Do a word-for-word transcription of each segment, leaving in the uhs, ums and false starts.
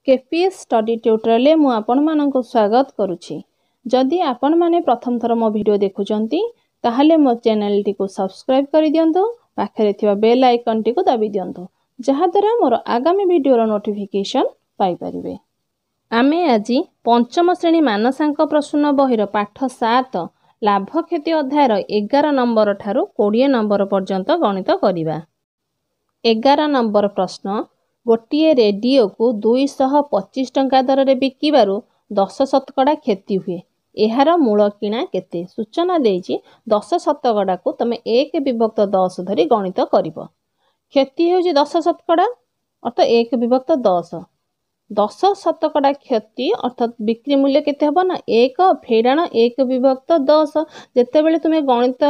KPS study ଟ୍ୟୁଟୋରିଆଲରେ ମୁଁ ଆପଣମାନଙ୍କୁ ସ୍ୱାଗତ କରୁଛି। ଯଦି ଆପଣମାନେ ପ୍ରଥମ ଥର ମୋ ଭିଡ଼ିଓ ଦେଖୁଛନ୍ତି, ତାହେଲେ ମୋ ଚ୍ୟାନେଲଟିକୁ ସବସ୍କ୍ରାଇବ୍ କରିଦିଅନ୍ତୁ, ପାଖରେ ଥିବା ବେଲ୍ ଆଇକନ୍ଟିକୁ ଦାବି ଦିଅନ୍ତୁ, ଯାହାଦ୍ୱାରା ମୋର ଆଗାମୀ ଭିଡ଼ିଓର ନୋଟିଫିକେସନ୍ ପାଇପାରିବେ। ଆମେ ଆଜି ପଞ୍ଚମ ଶ୍ରେଣୀ ମାନସାଙ୍କ ପ୍ରସୂନ ବହିର ପାଠ ସାତ ଲାଭ କ୍ଷତି ଅଧ୍ୟାୟର ଏଗାର ନମ୍ବର ଠାରୁ କୋଡ଼ିଏ ନମ୍ବର ପର୍ଯ୍ୟନ୍ତ ଗଣିତ କରିବା। ଏଗାର ନମ୍ବର ପ୍ରଶ୍ନ, ଗୋଟିଏ ରେଡ଼ିଓକୁ ଦୁଇଶହ ପଚିଶ ଟଙ୍କା ଦରରେ ବିକିବାରୁ ଦଶ ଶତକଡ଼ା କ୍ଷତି ହୁଏ, ଏହାର ମୂଳ କିଣା କେତେ? ସୂଚନା ଦେଇଛି, ଦଶ ଶତକଡ଼ାକୁ ତମେ ଏକ ବିଭକ୍ତ ଦଶ ଧରି ଗଣିତ କରିବ। କ୍ଷତି ହେଉଛି ଦଶ ଶତକଡ଼ା, ଅର୍ଥ ଏକ ବିଭକ୍ତ ଦଶ। ଦଶ ଶତକଡ଼ା କ୍ଷତି ଅର୍ଥାତ୍ ବିକ୍ରି ମୂଲ୍ୟ କେତେ ହେବ ନା ଏକ ଫେଡ଼ାଣ ଏକ ବିଭକ୍ତ ଦଶ। ଯେତେବେଳେ ତୁମେ ଗଣିତ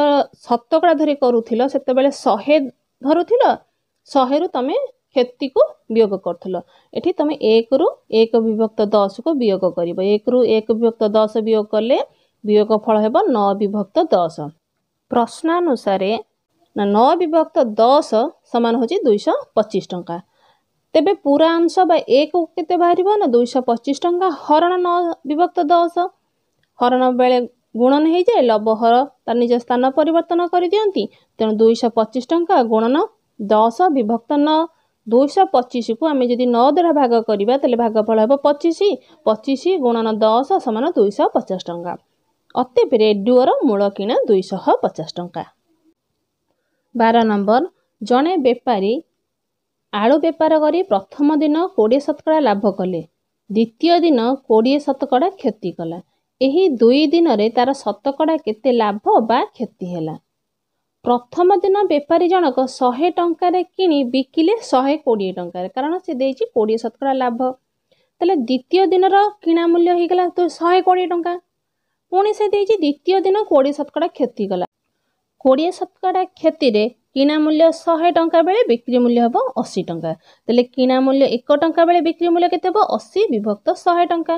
ଶତକଡ଼ା ଧରି କରୁଥିଲ, ସେତେବେଳେ ଶହେ ଧରୁଥିଲ, ଶହେରୁ ତମେ କ୍ଷତିକୁ ବିୟୋଗ କରୁଥିଲ। ଏଠି ତମେ ଏକରୁ ଏକ ବିଭକ୍ତ ଦଶକୁ ବିୟୋଗ କରିବ। ଏକରୁ ଏକ ବିଭକ୍ତ ଦଶ ବିୟୋଗ କଲେ ବିୟୋଗ ଫଳ ହେବ ନଅ ବିଭକ୍ତ ଦଶ। ପ୍ରଶ୍ନାନୁସାରେ ନା ନଅ ବିଭକ୍ତ ଦଶ ସମାନ ହେଉଛି ଦୁଇଶହ ପଚିଶ ଟଙ୍କା। ତେବେ ପୁରା ଅଂଶ ବା ଏକ କେତେ ବାହାରିବ ନା ଦୁଇଶହ ପଚିଶ ଟଙ୍କା ହରଣ ନଅ ବିଭକ୍ତ ଦଶ। ହରଣ ବେଳେ ଗୁଣନ ହେଇଯାଏ, ଲବ ହର ତା ନିଜ ସ୍ଥାନ ପରିବର୍ତ୍ତନ କରିଦିଅନ୍ତି। ତେଣୁ ଦୁଇଶହ ପଚିଶ ଟଙ୍କା ଗୁଣନ ଦଶ ବିଭକ୍ତ ନଅ। ଦୁଇଶହ ପଚିଶକୁ ଆମେ ଯଦି ନଅ ଦ୍ୱାରା ଭାଗ କରିବା, ତାହେଲେ ଭାଗଫଳ ହେବ ପଚିଶ। ପଚିଶ ଗୁଣନ ଦଶ ସମାନ ଦୁଇଶହ ପଚାଶ ଟଙ୍କା। ଅତଏବ ରେଡ଼ିଓର ମୂଳ କିଣା ଦୁଇଶହ ପଚାଶ ଟଙ୍କା। ବାର ନମ୍ବର, ଜଣେ ବେପାରୀ ଆଳୁ ବେପାର କରି ପ୍ରଥମ ଦିନ କୋଡ଼ିଏ ଶତକଡ଼ା ଲାଭ କଲେ, ଦ୍ୱିତୀୟ ଦିନ କୋଡ଼ିଏ ଶତକଡ଼ା କ୍ଷତି କଲା। ଏହି ଦୁଇ ଦିନରେ ତାର ଶତକଡ଼ା କେତେ ଲାଭ ବା କ୍ଷତି ହେଲା? ପ୍ରଥମ ଦିନ ବେପାରୀ ଜଣକ ଶହେ ଟଙ୍କାରେ କିଣି ବିକିଲେ ଶହେ କୋଡ଼ିଏ ଟଙ୍କାରେ, କାରଣ ସେ ଦେଇଛି କୋଡ଼ିଏ ଶତକଡ଼ା ଲାଭ। ତାହେଲେ ଦ୍ୱିତୀୟ ଦିନର କିଣା ମୂଲ୍ୟ ହେଇଗଲା ତ ଶହେ କୋଡ଼ିଏ ଟଙ୍କା। ପୁଣି ସେ ଦେଇଛି ଦ୍ୱିତୀୟ ଦିନ କୋଡ଼ିଏ ଶତକଡ଼ା କ୍ଷତି କଲା। କୋଡ଼ିଏ ଶତକଡ଼ା କ୍ଷତିରେ କିଣା ମୂଲ୍ୟ ଶହେ ଟଙ୍କା ବେଳେ ବିକ୍ରି ମୂଲ୍ୟ ହେବ ଅଶୀ ଟଙ୍କା। ତାହେଲେ କିଣା ମୂଲ୍ୟ ଏକ ଟଙ୍କା ବେଳେ ବିକ୍ରି ମୂଲ୍ୟ କେତେ ହେବ? ଅଶୀ ବିଭକ୍ତ ଶହେ ଟଙ୍କା।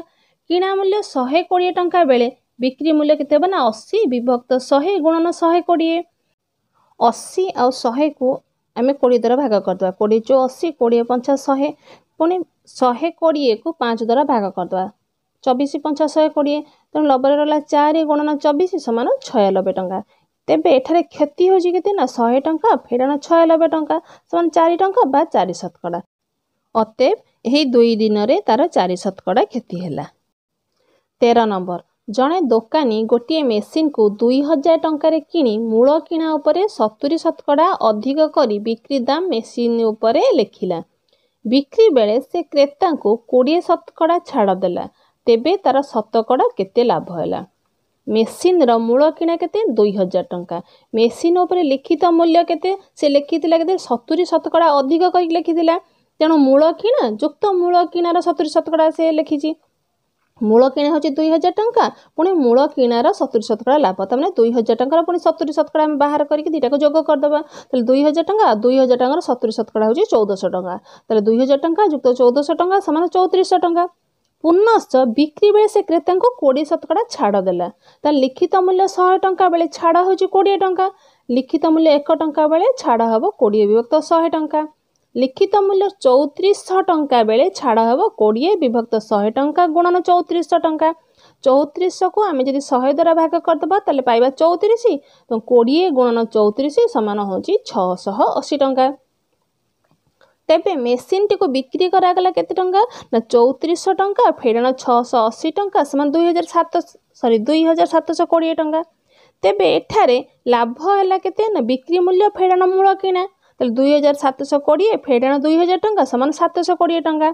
କିଣା ମୂଲ୍ୟ ଶହେ କୋଡ଼ିଏ ଟଙ୍କା ବେଳେ ବିକ୍ରି ମୂଲ୍ୟ କେତେ ହେବ ନା ଅଶୀ ବିଭକ୍ତ ଶହେ ଗୁଣନ ଶହେ କୋଡ଼ିଏ। ଅଶୀ ଆଉ ଶହେକୁ ଆମେ କୋଡ଼ିଏ ଦ୍ୱାରା ଭାଗ କରିଦେବା। କୋଡ଼ିଏ ଚଉ ଅଶୀ, କୋଡ଼ିଏ ପଞ୍ଚା ଶହେ। ପୁଣି ଶହେ କୋଡ଼ିଏକୁ ପାଞ୍ଚ ଦ୍ୱାରା ଭାଗ କରିଦେବା, ଚବିଶ ପଞ୍ଚା ଶହେ କୋଡ଼ିଏ। ତେଣୁ ଲବରେ ରହିଲା ଚାରି ଗୁଣନ ଚବିଶ ସମାନ ଛୟାନବେ ଟଙ୍କା। ତେବେ ଏଠାରେ କ୍ଷତି ହେଉଛି କେତେ ନା ଶହେ ଟଙ୍କା ଫେଡ଼ାଣ ଛୟାନବେ ଟଙ୍କା ସମାନ ଚାରି ଟଙ୍କା ବା ଚାରି ଶତକଡ଼ା। ଅତଏବ ଏହି ଦୁଇ ଦିନରେ ତାର ଚାରି ଶତକଡ଼ା କ୍ଷତି ହେଲା। ତେର ନମ୍ବର, ଜଣେ ଦୋକାନୀ ଗୋଟିଏ ମେସିନ୍କୁ ଦୁଇ ହଜାର ଟଙ୍କାରେ କିଣି ମୂଳ କିଣା ଉପରେ ସତୁରି ଶତକଡ଼ା ଅଧିକ କରି ବିକ୍ରି ଦାମ ମେସିନ୍ ଉପରେ ଲେଖିଲା। ବିକ୍ରି ବେଳେ ସେ କ୍ରେତାଙ୍କୁ କୋଡ଼ିଏ ଶତକଡ଼ା ଛାଡ଼ ଦେଲା। ତେବେ ତାର ଶତକଡ଼ା କେତେ ଲାଭ ହେଲା? ମେସିନ୍ର ମୂଳ କିଣା କେତେ? ଦୁଇ ହଜାର ଟଙ୍କା। ମେସିନ୍ ଉପରେ ଲିଖିତ ମୂଲ୍ୟ କେତେ? ସେ ଲେଖିଥିଲା କେତେ? ସତୁରି ଶତକଡ଼ା ଅଧିକ କରିକି ଲେଖିଥିଲା। ତେଣୁ ମୂଳ କିଣା ଯୁକ୍ତ ମୂଳ କିଣାର ସତୁରି ଶତକଡ଼ା ସେ ଲେଖିଛି। ମୂଳ କିଣା ହେଉଛି ଦୁଇ ହଜାର ଟଙ୍କା, ପୁଣି ମୂଳ କିଣାର ସତୁରି ଶତକଡ଼ା ଲାଭ। ତାମାନେ ଦୁଇ ହଜାର ଟଙ୍କାର ପୁଣି ସତୁରି ଶତକଡ଼ା ଆମେ ବାହାର କରିକି ଦୁଇଟାକୁ ଯୋଗ କରିଦେବା। ତାହେଲେ ଦୁଇ ହଜାର ଟଙ୍କା, ଦୁଇ ହଜାର ଟଙ୍କାର ସତୁରି ଶତକଡ଼ା ହେଉଛି ଚଉଦଶହ ଟଙ୍କା। ତାହେଲେ ଦୁଇ ହଜାର ଟଙ୍କା ଯୁକ୍ତ ଚଉଦଶହ ଟଙ୍କା ସମାନ ଚଉତିରିଶଶହ ଟଙ୍କା। ପୁନଶ୍ଚ ବିକ୍ରି ବେଳେ ସେ କ୍ରେତାଙ୍କୁ କୋଡ଼ିଏ ଶତକଡ଼ା ଛାଡ଼ ଦେଲା। ତାହେଲେ ଲିଖିତ ମୂଲ୍ୟ ଶହେ ଟଙ୍କା ବେଳେ ଛାଡ଼ ହେଉଛି କୋଡ଼ିଏ ଟଙ୍କା। ଲିଖିତ ମୂଲ୍ୟ ଏକ ଟଙ୍କା ବେଳେ ଛାଡ଼ ହେବ କୋଡ଼ିଏ ବିଭକ୍ତ ଶହେ ଟଙ୍କା। ଲିଖିତ ମୂଲ୍ୟ ଚଉତିରିଶଶହ ଟଙ୍କା ବେଳେ ଛାଡ଼ ହେବ କୋଡ଼ିଏ ବିଭକ୍ତ ଶହେ ଟଙ୍କା ଗୁଣନ ଚଉତିରିଶଶହ ଟଙ୍କା। ଚଉତିରିଶଶହକୁ ଆମେ ଯଦି ଶହେ ଦ୍ୱାରା ଭାଗ କରିଦେବା, ତାହେଲେ ପାଇବା ଚଉତିରିଶ। ତ କୋଡ଼ିଏ ଗୁଣନ ଚଉତିରିଶ ସମାନ ହେଉଛି ଛଅଶହ ଅଶୀ ଟଙ୍କା। ତେବେ ମେସିନ୍ଟିକୁ ବିକ୍ରି କରାଗଲା କେତେ ଟଙ୍କା ନା ଚଉତିରିଶଶହ ଟଙ୍କା ଫେଡ଼ାଣ ଛଅଶହ ଅଶୀ ଟଙ୍କା ସମାନ ଦୁଇ ହଜାର ସାତ ସରି ଦୁଇ ହଜାର ସାତଶହ କୋଡ଼ିଏ ଟଙ୍କା। ତେବେ ଏଠାରେ ଲାଭ ହେଲା କେତେ ନା ବିକ୍ରି ମୂଲ୍ୟ ଫେଡ଼ାଣ ମୂଳ କିଣା। ତାହେଲେ ଦୁଇ ହଜାର ସାତଶହ କୋଡ଼ିଏ ଫେଡ଼ାଣ ଦୁଇ ହଜାର ଟଙ୍କା ସମାନ ସାତଶହ କୋଡ଼ିଏ ଟଙ୍କା।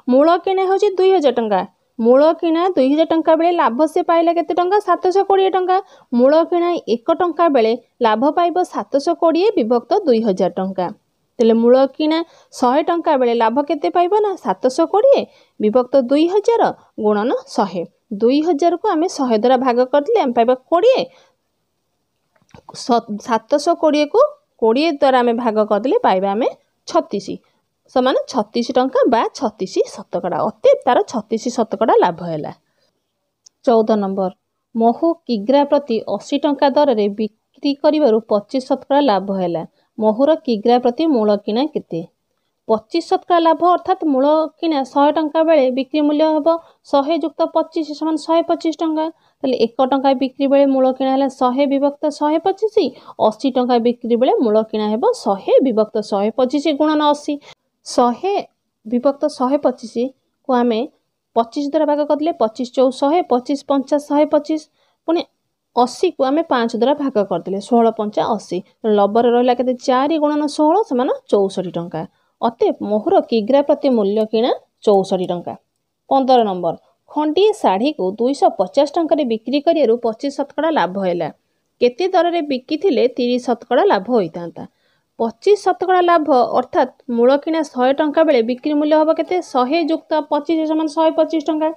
ମୂଳ କିଣା ହେଉଛି ଦୁଇ ହଜାର ଟଙ୍କା। ମୂଳ କିଣା ଦୁଇ ହଜାର ଟଙ୍କା ବେଳେ ଲାଭ ସେ ପାଇଲା କେତେ ଟଙ୍କା? ସାତଶହ କୋଡ଼ିଏ ଟଙ୍କା। ମୂଳ କିଣା ଏକ ଟଙ୍କା ବେଳେ ଲାଭ ପାଇବ ସାତଶହ କୋଡ଼ିଏ ବିଭକ୍ତ ଦୁଇ ହଜାର ଟଙ୍କା। ତାହେଲେ ମୂଳ କିଣା ଶହେ ଟଙ୍କା ବେଳେ ଲାଭ କେତେ ପାଇବ ନା ସାତଶହ କୋଡ଼ିଏ ବିଭକ୍ତ ଦୁଇ ହଜାର ଗୁଣନ ଶହେ। ଦୁଇ ହଜାରକୁ ଆମେ ଶହେ ଦ୍ୱାରା ଭାଗ କରିଦେଲେ ଆମେ ପାଇବା କୋଡ଼ିଏ। ସାତଶହ କୋଡ଼ିଏକୁ କୋଡ଼ିଏ ଦ୍ୱାରା ଆମେ ଭାଗ କରିଦେଲେ ପାଇବା ଆମେ ଛତିଶ, ସମାନ ଛତିଶ ଟଙ୍କା ବା ଛତିଶ ଶତକଡ଼ା। ଅତଏବ ତାର ଛତିଶ ଶତକଡ଼ା ଲାଭ ହେଲା। ଚଉଦ ନମ୍ବର, ମହୁ କିଗ୍ରା ପ୍ରତି ଅଶୀ ଟଙ୍କା ଦରରେ ବିକ୍ରି କରିବାରୁ ପଚିଶ ଶତକଡ଼ା ଲାଭ ହେଲା। ମହୁର କିଗ୍ରା ପ୍ରତି ମୂଳ କିଣା କେତେ? ପଚିଶ ଶତକଡ଼ା ଲାଭ ଅର୍ଥାତ୍ ମୂଳ କିଣା ଶହେ ଟଙ୍କା ବେଳେ ବିକ୍ରି ମୂଲ୍ୟ ହେବ ଶହେ ଯୁକ୍ତ ପଚିଶ ସମାନ ଶହେ ପଚିଶ ଟଙ୍କା। ତାହେଲେ ଏକ ଟଙ୍କା ବିକ୍ରି ବେଳେ ମୂଳ କିଣା ହେଲା ଶହେ ବିଭକ୍ତ ଶହେ ପଚିଶ, ଅଶୀ ଟଙ୍କା ବିକ୍ରି ବେଳେ ମୂଳ କିଣା ହେବ ଶହେ ବିଭକ୍ତ ଶହେ ପଚିଶ ଗୁଣନ ଅଶୀ। ଶହେ ବିଭକ୍ତ ଶହେ ପଚିଶକୁ ଆମେ ପଚିଶ ଦ୍ୱାରା ଭାଗ କରିଦେଲେ ପଚିଶ ଚଉ ଶହେ, ପଚିଶ ପଞ୍ଚା ଶହେ ପଚିଶ, ପୁଣି ଅଶୀକୁ ଆମେ ପାଞ୍ଚ ଦ୍ୱାରା ଭାଗ କରିଦେଲେ ଷୋହଳ ପଞ୍ଚା ଅଶୀ, ତେଣୁ ଲବରେ ରହିଲା କେତେ ଚାରି ଗୁଣନ ଷୋହଳ ସମାନ ଚଉଷଠି ଟଙ୍କା। ଅତଏବ ମହୁର କିଗ୍ରା ପ୍ରତି ମୂଲ୍ୟ କିଣା ଚଉଷଠି ଟଙ୍କା। ପନ୍ଦର ନମ୍ବର, ଖଣ୍ଡିଏ ଶାଢ଼ୀକୁ ଦୁଇଶହ ପଚାଶ ଟଙ୍କାରେ ବିକ୍ରି କରିବାରୁ ପଚିଶ ଶତକଡ଼ା ଲାଭ ହେଲା। କେତେ ଦରରେ ବିକିଥିଲେ ତିରିଶ ଶତକଡ଼ା ଲାଭ ହୋଇଥାନ୍ତା? ପଚିଶ ଶତକଡ଼ା ଲାଭ ଅର୍ଥାତ୍ ମୂଳ କିଣା ଶହେ ଟଙ୍କା ବେଳେ ବିକ୍ରି ମୂଲ୍ୟ ହେବ କେତେ? ଶହେ ଯୁକ୍ତ ପଚିଶ ସମାନ ଶହେ ପଚିଶ ଟଙ୍କା।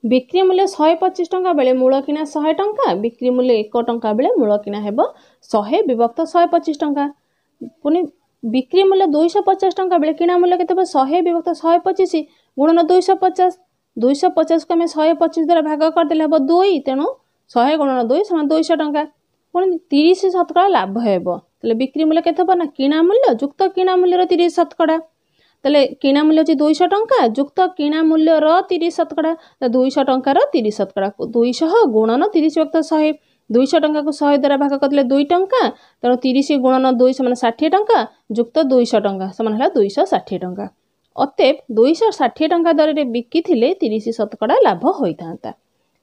ବିକ୍ରି ମୂଲ୍ୟ ଶହେ ପଚିଶ ଟଙ୍କା ବେଳେ ମୂଳ କିଣା ଶହେ ଟଙ୍କା, ବିକ୍ରି ମୂଲ୍ୟ ଏକ ଟଙ୍କା ବେଳେ ମୂଳ କିଣା ହେବ ଶହେ ବିଭକ୍ତ ଶହେ ପଚିଶ ଟଙ୍କା। ପୁଣି ବିକ୍ରି ମୂଲ୍ୟ ଦୁଇଶହ ପଚାଶ ଟଙ୍କା ବେଳେ କିଣା ମୂଲ୍ୟ କେତେ ହେବ? ଶହେ ବିଭକ୍ତ ଶହେ ପଚିଶ ଗୁଣନ ଦୁଇଶହ ପଚାଶ। ଦୁଇଶହ ପଚାଶକୁ ଆମେ ଶହେ ପଚିଶ ଦ୍ୱାରା ଭାଗ କରିଦେଲେ ହେବ ଦୁଇ, ତେଣୁ ଶହେ ଗୁଣନ ଦୁଇ ସମାନ ଦୁଇଶହ ଟଙ୍କା। ପୁଣି ତିରିଶ ଶତକଡ଼ା ଲାଭ ହେବ, ତାହେଲେ ବିକ୍ରି ମୂଲ୍ୟ କେତେ ହେବ ନା କିଣା ମୂଲ୍ୟ ଯୁକ୍ତ କିଣା ମୂଲ୍ୟର ତିରିଶ ଶତକଡ଼ା। ତାହେଲେ କିଣା ମୂଲ୍ୟ ହେଉଛି ଦୁଇଶହ ଟଙ୍କା ଯୁକ୍ତ କିଣା ମୂଲ୍ୟର ତିରିଶ ଶତକଡ଼ା, ଦୁଇଶହ ଟଙ୍କାର ତିରିଶ ଶତକଡ଼ା, ଦୁଇଶହ ଗୁଣନ ତିରିଶ ବିଭକ୍ତ ଶହେ। ଦୁଇଶହ ଟଙ୍କାକୁ ଶହେ ଦ୍ୱାରା ଭାଗ କରିଦେଲେ ଦୁଇ ଟଙ୍କା, ତେଣୁ ତିରିଶ ଗୁଣନ ଦୁଇ ସମାନ ଷାଠିଏ ଟଙ୍କା ଯୁକ୍ତ ଦୁଇଶହ ଟଙ୍କା ସମାନ ହେଲା ଦୁଇଶହ ଷାଠିଏ ଟଙ୍କା। ଅତଏବ ଦୁଇଶହ ଷାଠିଏ ଟଙ୍କା ଦରରେ ବିକିଥିଲେ ତିରିଶ ଶତକଡ଼ା ଲାଭ ହୋଇଥାନ୍ତା।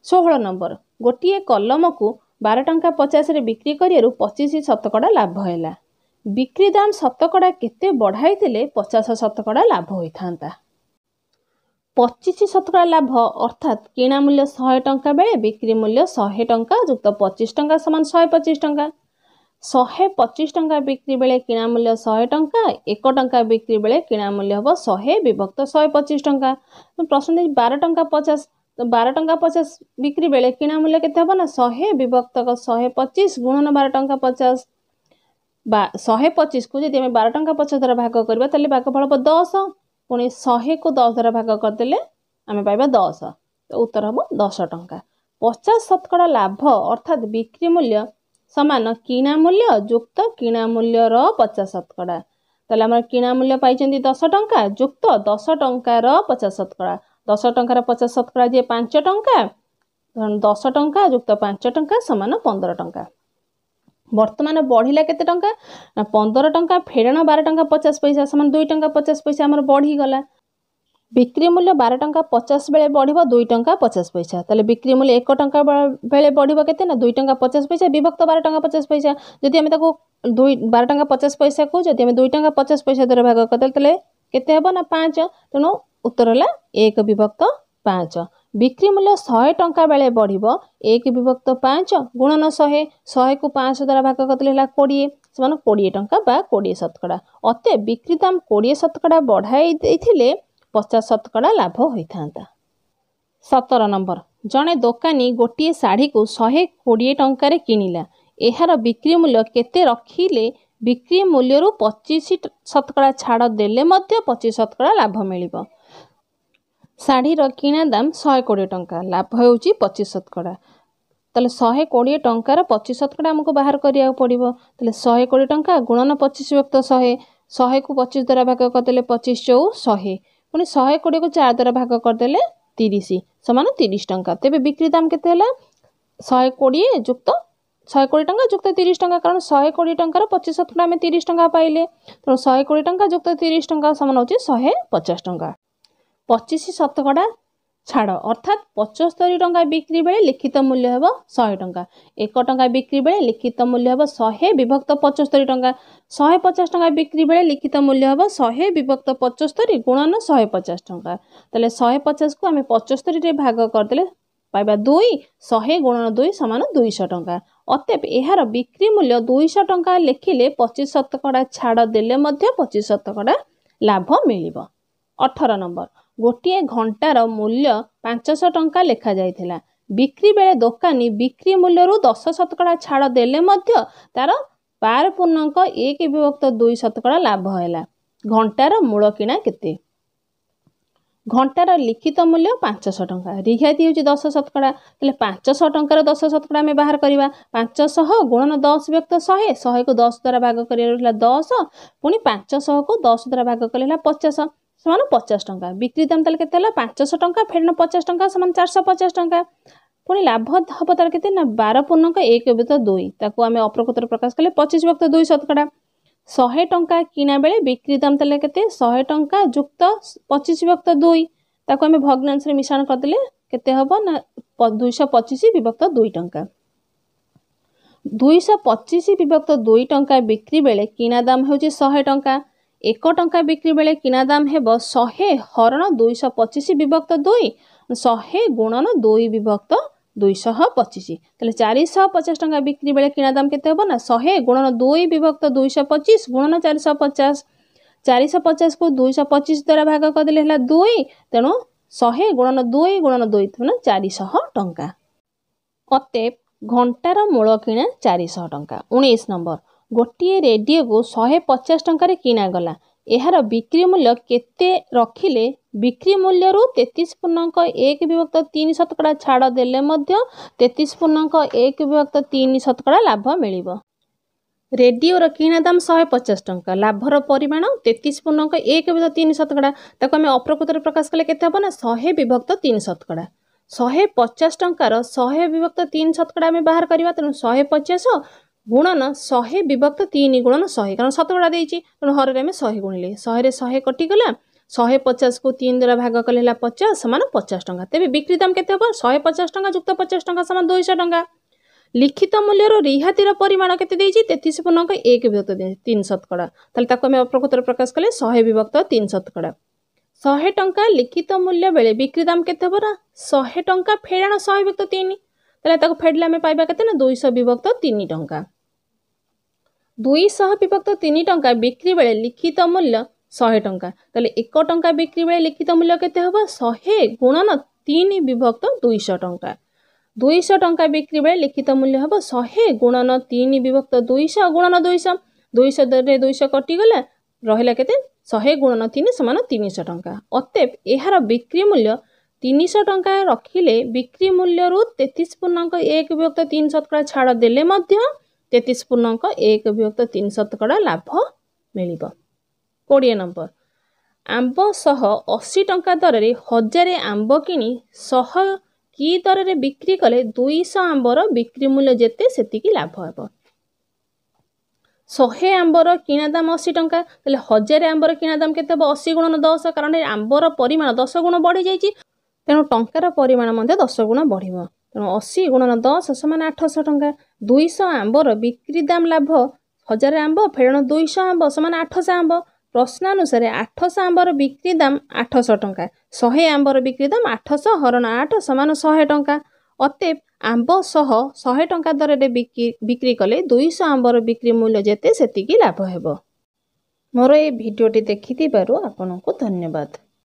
ଷୋହଳ ନମ୍ବର, ଗୋଟିଏ କଲମକୁ ବାର ଟଙ୍କା ପଚାଶରେ ବିକ୍ରି କରିବାରୁ ପଚିଶ ଶତକଡ଼ା ଲାଭ ହେଲା। ବିକ୍ରି ଦାମ ଶତକଡ଼ା କେତେ ବଢ଼ାଇଥିଲେ ପଚାଶ ଶତକଡ଼ା ଲାଭ ହୋଇଥାନ୍ତା? ପଚିଶ ଶତକଡ଼ା ଲାଭ ଅର୍ଥାତ୍ କିଣା ମୂଲ୍ୟ ଶହେ ଟଙ୍କା ବେଳେ ବିକ୍ରି ମୂଲ୍ୟ ଶହେ ଟଙ୍କା ଯୁକ୍ତ ପଚିଶ ଟଙ୍କା ସମାନ ଶହେ ପଚିଶ ଟଙ୍କା। ଶହେ ପଚିଶ ଟଙ୍କା ବିକ୍ରି ବେଳେ କିଣା ମୂଲ୍ୟ ଶହେ ଟଙ୍କା, ଏକ ଟଙ୍କା ବିକ୍ରି ବେଳେ କିଣା ମୂଲ୍ୟ ହେବ ଶହେ ବିଭକ୍ତ ଶହେ ପଚିଶ ଟଙ୍କା। ପ୍ରଶ୍ନ ଦେଇଛି ବାର ଟଙ୍କା ପଚାଶ, ତ ବାର ଟଙ୍କା ପଚାଶ ବିକ୍ରି ବେଳେ କିଣା ମୂଲ୍ୟ କେତେ ହେବ ନା ଶହେ ବିଭକ୍ତ ଶହେ ପଚିଶ ଗୁଣନ ବାର ଟଙ୍କା ପଚାଶ। ବା ଶହେ ପଚିଶକୁ ଯଦି ଆମେ ବାର ଟଙ୍କା ପଚାଶ ଦ୍ୱାରା ଭାଗ କରିବା ତାହେଲେ ଭାଗଫଳ ହେବ ଦଶ, ପୁଣି ଶହେକୁ ଦଶ ଦ୍ୱାରା ଭାଗ କରିଦେଲେ ଆମେ ପାଇବା ଦଶ, ତ ଉତ୍ତର ହେବ ଦଶ ଟଙ୍କା। ପଚାଶ ଶତକଡ଼ା ଲାଭ ଅର୍ଥାତ୍ ବିକ୍ରି ମୂଲ୍ୟ ସମାନ କିଣା ମୂଲ୍ୟ ଯୁକ୍ତ କିଣା ମୂଲ୍ୟର ପଚାଶ ଶତକଡ଼ା। ତାହେଲେ ଆମର କିଣା ମୂଲ୍ୟ ପାଇଛନ୍ତି ଦଶ ଟଙ୍କା ଯୁକ୍ତ ଦଶ ଟଙ୍କାର ପଚାଶ ଶତକଡ଼ା, ଦଶ ଟଙ୍କାର ପଚାଶ ଶତକଡ଼ା ଯିଏ ପାଞ୍ଚ ଟଙ୍କା, ଦଶ ଟଙ୍କା ଯୁକ୍ତ ପାଞ୍ଚ ଟଙ୍କା ସମାନ ପନ୍ଦର ଟଙ୍କା। ବର୍ତ୍ତମାନ ବଢ଼ିଲା କେତେ ଟଙ୍କା ନା ପନ୍ଦର ଟଙ୍କା ଫେରଣ ବାର ଟଙ୍କା ପଚାଶ ପଇସା ସମାନ ଦୁଇ ଟଙ୍କା ପଚାଶ ପଇସା ଆମର ବଢ଼ିଗଲା। ବିକ୍ରି ମୂଲ୍ୟ ବାର ଟଙ୍କା ପଚାଶ ବେଳେ ବଢ଼ିବ ଦୁଇ ଟଙ୍କା ପଚାଶ ପଇସା, ତାହେଲେ ବିକ୍ରି ମୂଲ୍ୟ ଏକ ଟଙ୍କା ବେଳେ ବଢ଼ିବ କେତେ ନା ଦୁଇ ଟଙ୍କା ପଚାଶ ପଇସା ବିଭକ୍ତ ବାର ଟଙ୍କା ପଚାଶ ପଇସା। ଯଦି ଆମେ ତାକୁ ଦୁଇ ବାର ଟଙ୍କା ପଚାଶ ପଇସାକୁ ଯଦି ଆମେ ଦୁଇ ଟଙ୍କା ପଚାଶ ପଇସା ଦ୍ୱାରା ଭାଗ କରିଦେଲେ ତାହେଲେ କେତେ ହେବ ନା ପାଞ୍ଚ, ତେଣୁ ଉତ୍ତର ହେଲା ଏକ ବିଭକ୍ତ ପାଞ୍ଚ। ବିକ୍ରି ମୂଲ୍ୟ ଶହେ ଟଙ୍କା ବେଳେ ବଢ଼ିବ ଏକ ବିଭକ୍ତ ପାଞ୍ଚ ଗୁଣନ ଶହେ, ଶହେକୁ ପାଞ୍ଚ ଦ୍ୱାରା ଭାଗ କରିଦେଲେ ହେଲା କୋଡ଼ିଏ, ସମାନ କୋଡ଼ିଏ ଟଙ୍କା ବା କୋଡ଼ିଏ ଶତକଡ଼ା। ଅତଏବ ବିକ୍ରି ଦାମ କୋଡ଼ିଏ ଶତକଡ଼ା ବଢ଼ାଇ ଦେଇଥିଲେ ପଚାଶ ଶତକଡ଼ା ଲାଭ ହୋଇଥାନ୍ତା। ସତର ନମ୍ବର, ଜଣେ ଦୋକାନୀ ଗୋଟିଏ ଶାଢ଼ୀକୁ ଶହେ କୋଡ଼ିଏ ଟଙ୍କାରେ କିଣିଲା। ଏହାର ବିକ୍ରି ମୂଲ୍ୟ କେତେ ରଖିଲେ ବିକ୍ରି ମୂଲ୍ୟରୁ ପଚିଶ ଶତକଡ଼ା ଛାଡ଼ ଦେଲେ ମଧ୍ୟ ପଚିଶ ଶତକଡ଼ା ଲାଭ ମିଳିବ? ଶାଢ଼ୀର କିଣା ଦାମ ଶହେ କୋଡ଼ିଏ ଟଙ୍କା, ଲାଭ ହେଉଛି ପଚିଶ ଶତକଡ଼ା। ତାହେଲେ ଶହେ କୋଡ଼ିଏ ଟଙ୍କାର ପଚିଶ ଶତକଡ଼ା ଆମକୁ ବାହାର କରିବାକୁ ପଡ଼ିବ। ତାହେଲେ ଶହେ କୋଡ଼ିଏ ଟଙ୍କା ଗୁଣନ ପଚିଶ ବିଭକ୍ତ ଶହେ, ଶହେକୁ ପଚିଶ ଦ୍ୱାରା ଭାଗ କରିଦେଲେ ପଚିଶ ଚଉ ଶହେ, ପୁଣି ଶହେ କୋଡ଼ିଏକୁ ଚାରି ଦ୍ୱାରା ଭାଗ କରିଦେଲେ ତିରିଶ ସମାନ ତିରିଶ ଟଙ୍କା। ତେବେ ବିକ୍ରି ଦାମ କେତେ ହେଲା? ଶହେ କୋଡ଼ିଏ ଯୁକ୍ତ ଶହେ କୋଡ଼ିଏ ଟଙ୍କା ଯୁକ୍ତ ତିରିଶ ଟଙ୍କା, କାରଣ ଶହେ କୋଡ଼ିଏ ଟଙ୍କାର ପଚିଶ ଶତକଡ଼ା ଆମେ ତିରିଶ ଟଙ୍କା ପାଇଲେ। ତେଣୁ ଶହେ କୋଡ଼ିଏ ଟଙ୍କା ଯୁକ୍ତ ତିରିଶ ଟଙ୍କା ସମାନ ହେଉଛି ଶହେ ପଚାଶ ଟଙ୍କା। ପଚିଶ ଶତକଡ଼ା ଛାଡ଼ ଅର୍ଥାତ୍ ପଞ୍ଚସ୍ତରୀ ଟଙ୍କା ବିକ୍ରି ବେଳେ ଲିଖିତ ମୂଲ୍ୟ ହେବ ଶହେ ଟଙ୍କା, ଏକ ଟଙ୍କା ବିକ୍ରି ବେଳେ ଲିଖିତ ମୂଲ୍ୟ ହେବ ଶହେ ବିଭକ୍ତ ପଞ୍ଚସ୍ତରୀ ଟଙ୍କା, ଶହେ ପଚାଶ ଟଙ୍କା ବିକ୍ରି ବେଳେ ଲିଖିତ ମୂଲ୍ୟ ହେବ ଶହେ ବିଭକ୍ତ ପଞ୍ଚସ୍ତରୀ ଗୁଣନ ଶହେ ପଚାଶ ଟଙ୍କା। ତାହେଲେ ଶହେ ପଚାଶକୁ ଆମେ ପଞ୍ଚସ୍ତରୀରେ ଭାଗ କରିଦେଲେ ପାଇବା ଦୁଇ, ଶହେ ଗୁଣନ ଦୁଇ ସମାନ ଦୁଇଶହ ଟଙ୍କା। ଅତଏବ ଏହାର ବିକ୍ରି ମୂଲ୍ୟ ଦୁଇଶହ ଟଙ୍କା ଲେଖିଲେ ପଚିଶ ଶତକଡ଼ା ଛାଡ଼ ଦେଲେ ମଧ୍ୟ ପଚିଶ ଶତକଡ଼ା ଲାଭ ମିଳିବ। ଅଠର ନମ୍ବର, ଗୋଟିଏ ଘଣ୍ଟାର ମୂଲ୍ୟ ପାଞ୍ଚଶହ ଟଙ୍କା ଲେଖାଯାଇଥିଲା। ବିକ୍ରି ବେଳେ ଦୋକାନୀ ବିକ୍ରି ମୂଲ୍ୟରୁ ଦଶ ଶତକଡ଼ା ଛାଡ଼ ଦେଲେ ମଧ୍ୟ ତାର ବାର ପୂର୍ଣ୍ଣାଙ୍କ ଏକ ବିଭକ୍ତ ଦୁଇ ଶତକଡ଼ା ଲାଭ ହେଲା। ଘଣ୍ଟାର ମୂଳ କିଣା କେତେ? ଘଣ୍ଟାର ଲିଖିତ ମୂଲ୍ୟ ପାଞ୍ଚଶହ ଟଙ୍କା, ରିହାତି ହେଉଛି ଦଶ ଶତକଡ଼ା। ତାହେଲେ ପାଞ୍ଚଶହ ଟଙ୍କାର ଦଶ ଶତକଡ଼ା ଆମେ ବାହାର କରିବା। ପାଞ୍ଚଶହ ଗୁଣନ ଦଶ ବିଭକ୍ତ ଶହେ, ଶହେକୁ ଦଶ ଦ୍ୱାରା ଭାଗ କରିବାର ହେଲା ଦଶ, ପୁଣି ପାଞ୍ଚଶହକୁ ଦଶ ଦ୍ୱାରା ଭାଗ କଲେ ହେଲା ପଚାଶ, ସମାନ ପଚାଶ ଟଙ୍କା। ବିକ୍ରି ଦାମ ତାହେଲେ କେତେ ହେଲା? ପାଞ୍ଚଶହ ଟଙ୍କା ଫେରଣ ପଚାଶ ଟଙ୍କା ସମାନ ଚାରିଶହ ପଚାଶ ଟଙ୍କା। ପୁଣି ଲାଭ ହେବ ତାର କେତେ ନା ବାର ପୂର୍ଣ୍ଣଙ୍କ ଏକ ବିଭକ୍ତ ଦୁଇ, ତାକୁ ଆମେ ଅପ୍ରକୃତରେ ପ୍ରକାଶ କଲେ ପଚିଶ ବିଭକ୍ତ ଦୁଇ ଶତକଡ଼ା। ଶହେ ଟଙ୍କା କିଣା ବେଳେ ବିକ୍ରି ଦାମ ତାହେଲେ କେତେ? ଶହେ ଟଙ୍କା ଯୁକ୍ତ ପଚିଶ ବିଭକ୍ତ ଦୁଇ, ତାକୁ ଆମେ ଭଗ୍ନାଂଶରେ ମିଶ୍ରଣ କରିଦେଲେ କେତେ ହେବ ନା ଦୁଇଶହ ପଚିଶ ବିଭକ୍ତ ଦୁଇ ଟଙ୍କା। ଦୁଇଶହ ପଚିଶ ବିଭକ୍ତ ଦୁଇ ଟଙ୍କା ବିକ୍ରି ବେଳେ କିଣା ଦାମ ହେଉଛି ଶହେ ଟଙ୍କା। ଏକ ଟଙ୍କା ବିକ୍ରି ବେଳେ କିଣା ଦାମ ହେବ ଶହେ ହରଣ ଦୁଇଶହ ପଚିଶ ବିଭକ୍ତ ଦୁଇ, ଶହେ ଗୁଣନ ଦୁଇ ବିଭକ୍ତ ଦୁଇଶହ ପଚିଶ। ତାହେଲେ ଚାରିଶହ ପଚାଶ ଟଙ୍କା ବିକ୍ରି ବେଳେ କିଣା ଦାମ କେତେ ହେବ ନା ଶହେ ଗୁଣନ ଦୁଇ ବିଭକ୍ତ ଦୁଇଶହ ପଚିଶ ଗୁଣନ ଚାରିଶହ ପଚାଶ। ଚାରିଶହ ପଚାଶକୁ ଦୁଇଶହ ପଚିଶ ଦ୍ୱାରା ଭାଗ କରିଦେଲେ ହେଲା ଦୁଇ, ତେଣୁ ଶହେ ଗୁଣନ ଦୁଇ ଗୁଣନ ଦୁଇ ତେଣୁ ଚାରିଶହ ଟଙ୍କା। ଅତେବ ଘଣ୍ଟାର ମୂଳ କିଣା ଚାରିଶହ ଟଙ୍କା। ଉଣେଇଶ ନମ୍ବର, ଗୋଟିଏ ରେଡ଼ିଓକୁ ଶହେ ପଚାଶ ଟଙ୍କାରେ କିଣାଗଲା, ଏହାର ବିକ୍ରି ମୂଲ୍ୟ କେତେ ରଖିଲେ ବିକ୍ରି ମୂଲ୍ୟରୁ ତେତିଶ ପୂର୍ଣ୍ଣାଙ୍କ ଏକ ବିଭକ୍ତ ତିନି ଶତକଡ଼ା ଛାଡ଼ ଦେଲେ ମଧ୍ୟ ତେତିଶ ପୂର୍ଣ୍ଣାଙ୍କ ଏକ ବିଭକ୍ତ ତିନି ଶତକଡ଼ା ଲାଭ ମିଳିବ। ରେଡ଼ିଓର କିଣା ଦାମ ଶହେ ପଚାଶ ଟଙ୍କା, ଲାଭର ପରିମାଣ ତେତିଶ ପୂର୍ଣ୍ଣାଙ୍କ ଏକ ବିଭକ୍ତ ତିନି ଶତକଡ଼ା, ତାକୁ ଆମେ ଅପ୍ରକୃତରେ ପ୍ରକାଶ କଲେ କେତେ ହେବ ନା ଶହେ ବିଭକ୍ତ ତିନି ଶତକଡ଼ା। ଶହେ ପଚାଶ ଟଙ୍କାର ଶହେ ବିଭକ୍ତ ତିନି ଶତକଡ଼ା ଆମେ ବାହାର କରିବା, ତେଣୁ ଶହେ ପଚାଶ ଗୁଣନ ଶହେ ବିଭକ୍ତ ତିନି ଗୁଣନ ଶହେ, କାରଣ ଶତକଡ଼ା ଦେଇଛି, ତେଣୁ ହରରେ ଆମେ ଶହେ ଗୁଣିଲେ ଶହେରେ ଶହେ କଟିଗଲା। ଶହେ ପଚାଶକୁ ତିନି ଦ୍ୱାରା ଭାଗ କଲେ ହେଲା ପଚାଶ ସମାନ ପଚାଶ ଟଙ୍କା। ତେବେ ବିକ୍ରି ଦାମ କେତେ ହେବ? ଶହେ ପଚାଶ ଟଙ୍କା ଯୁକ୍ତ ପଚାଶ ଟଙ୍କା ସମାନ ଦୁଇଶହ ଟଙ୍କା। ଲିଖିତ ମୂଲ୍ୟରୁ ରିହାତିର ପରିମାଣ କେତେ ଦେଇଛି? ତେତିଶ ପୂର୍ଣ୍ଣାଙ୍କ ଏକ ବିଭକ୍ତ ତିନି ଶତକଡ଼ା। ତାହେଲେ ତାକୁ ଆମେ ଅପ୍ରକୃତରେ ପ୍ରକାଶ କଲେ ଶହେ ବିଭକ୍ତ ତିନି ଶତକଡ଼ା। ଶହେ ଟଙ୍କା ଲିଖିତ ମୂଲ୍ୟ ବେଳେ ବିକ୍ରି ଦାମ କେତେ ହେବ ନା ଶହେ ଟଙ୍କା ଫେଡ଼ାଣ ଶହେ ବିଭକ୍ତ ତିନି, ତାହେଲେ ତାକୁ ଫେଡ଼ିଲେ ଆମେ ପାଇବା କେତେ ନା ଦୁଇଶହ ବିଭକ୍ତ ତିନି ଟଙ୍କା। ଦୁଇଶହ ବିଭକ୍ତ ତିନି ଟଙ୍କା ବିକ୍ରି ବେଳେ ଲିଖିତ ମୂଲ୍ୟ ଶହେ ଟଙ୍କା, ତାହେଲେ ଏକ ଟଙ୍କା ବିକ୍ରି ବେଳେ ଲିଖିତ ମୂଲ୍ୟ କେତେ ହେବ? ଶହେ ଗୁଣନ ତିନି ବିଭକ୍ତ ଦୁଇଶହ ଟଙ୍କା। ଦୁଇଶହ ଟଙ୍କା ବିକ୍ରି ବେଳେ ଲିଖିତ ମୂଲ୍ୟ ହେବ ଶହେ ଗୁଣନ ତିନି ବିଭକ୍ତ ଦୁଇଶହ ଗୁଣନ ଦୁଇଶହ, ଦୁଇଶହରେ ଦୁଇଶହ କଟିଗଲା, ରହିଲା କେତେ? ଶହେ ଗୁଣନ ତିନି ସମାନ ତିନିଶହ ଟଙ୍କା। ଅତେବ ଏହାର ବିକ୍ରି ମୂଲ୍ୟ ତିନିଶହ ଟଙ୍କା ରଖିଲେ ବିକ୍ରି ମୂଲ୍ୟରୁ ତେତିଶ ପୂର୍ଣ୍ଣାଙ୍କ ଏକ ବିଭକ୍ତ ତିନି ଶତକଡ଼ା ଛାଡ଼ ଦେଲେ ମଧ୍ୟ ତେତିଶ ପୂର୍ଣ୍ଣାଙ୍କ ଏକ ବିଭକ୍ତ ତିନି ଶତକଡ଼ା ଲାଭ ମିଳିବ। କୋଡ଼ିଏ ନମ୍ବର, ଆମ୍ବ ସହ ଅଶୀ ଟଙ୍କା ଦରରେ ହଜାରେ ଆମ୍ବ କିଣି ଶହ କି ଦରରେ ବିକ୍ରି କଲେ ଦୁଇଶହ ଆମ୍ବର ବିକ୍ରି ମୂଲ୍ୟ ଯେତେ ସେତିକି ଲାଭ ହେବ। ଶହେ ଆମ୍ବର କିଣା ଦାମ ଅଶୀ ଟଙ୍କା, ତାହେଲେ ହଜାରେ ଆମ୍ବର କିଣା ଦାମ କେତେ ହେବ? ଅଶୀ ଗୁଣନ ଦଶ, କାରଣ ଆମ୍ବର ପରିମାଣ ଦଶ ଗୁଣ ବଢ଼ିଯାଇଛି, ତେଣୁ ଟଙ୍କାର ପରିମାଣ ମଧ୍ୟ ଦଶ ଗୁଣ ବଢ଼ିବ। ତେଣୁ ଅଶୀ ଗୁଣନ ଦଶ ସମାନ ଆଠଶହ ଟଙ୍କା। ଦୁଇଶହ ଆମ୍ବର ବିକ୍ରି ଦାମ ଲାଭ ହଜାରେ ଆମ୍ବ ଫେରଣ ଦୁଇଶହ ଆମ୍ବ ସମାନ ଆଠଶହ ଆମ୍ବ। ପ୍ରଶ୍ନାନୁସାରେ ଆଠଶହ ଆମ୍ବର ବିକ୍ରି ଦାମ ଆଠଶହ ଟଙ୍କା, ଶହେ ଆମ୍ବର ବିକ୍ରି ଦାମ ଆଠଶହ ହରଣ ଆଠ ସମାନ ଶହେ ଟଙ୍କା। ଅତେବ ଆମ୍ବ ସହ ଶହେ ଟଙ୍କା ଦରରେ ବିକ୍ରି ବିକ୍ରି କଲେ ଦୁଇଶହ ଆମ୍ବର ବିକ୍ରି ମୂଲ୍ୟ ଯେତେ ସେତିକି ଲାଭ ହେବ। ମୋର ଏ ଭିଡ଼ିଓଟି ଦେଖିଥିବାରୁ ଆପଣଙ୍କୁ ଧନ୍ୟବାଦ।